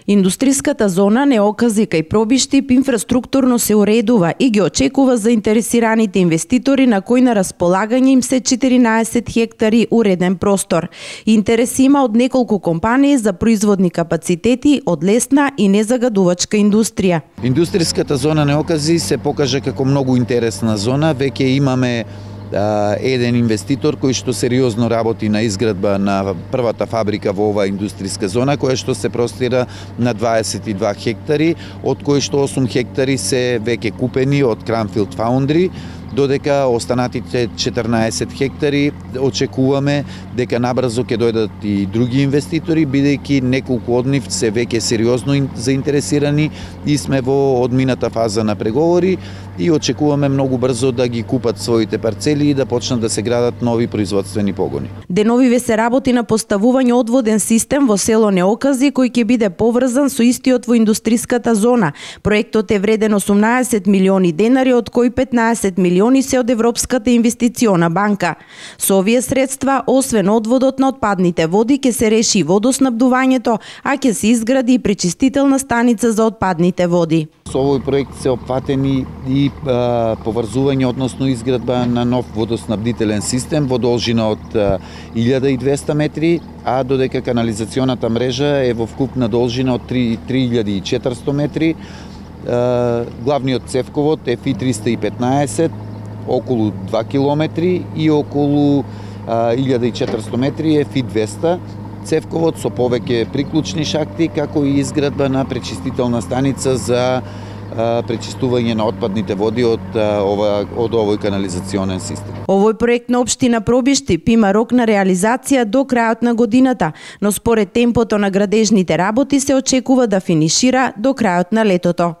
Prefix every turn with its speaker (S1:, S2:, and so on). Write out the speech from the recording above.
S1: Индустриската зона Неокази кај Пробиштип инфраструктурно се уредува и ги очекува заинтересираните инвеститори на кои на располагање им се 14 хектари уреден простор. Интерес има од неколку компании за производни капацитети од лесна и незагадувачка индустрија.
S2: Индустриската зона Неокази се покажа како многу интересна зона. Веќе имаме еден инвеститор кој што сериозно работи на изградба на првата фабрика во оваа индустриска зона, која што се простира на 22 хектари, од кои што 8 хектари се веќе купени од Cranfield Foundry, додека останатите 14 хектари очекуваме дека набрзо ќе дојдат и други инвеститори, бидејќи неколку од нив се веќе сериозно заинтересирани и сме во одмината фаза на преговори и очекуваме многу брзо да ги купат своите парцели и да почнат да се градат нови производствени погони.
S1: Деновиве се работи на поставување одводен систем во село Неокази кој ќе биде поврзан со истиот во индустриската зона. Проектот е вреден 18 милиони денари, од кои 15 милиони се од Европската инвестициона банка. Со овие средства, освен одводот на отпадните води, ќе се реши и водоснабдувањето, а ќе се изгради и пречистителна станица за отпадните води.
S2: Со овој проект се опфатени и поврзување, односно изградба на нов водоснабдителен систем во должина од 1200 метри, а додека канализационата мрежа е во вкупна должина од 3400 метри. Главниот цевковод е FI315, околу 2 километри, и околу 1400 метри е FI200 цевковод со повеќе приклучни шахти, како и изградба на пречистителна станица за пречистување на отпадните води од овој канализационен систем.
S1: Овој проект на општина Пробиштип има рок на реализација до крајот на годината, но според темпото на градежните работи се очекува да финишира до крајот на летото.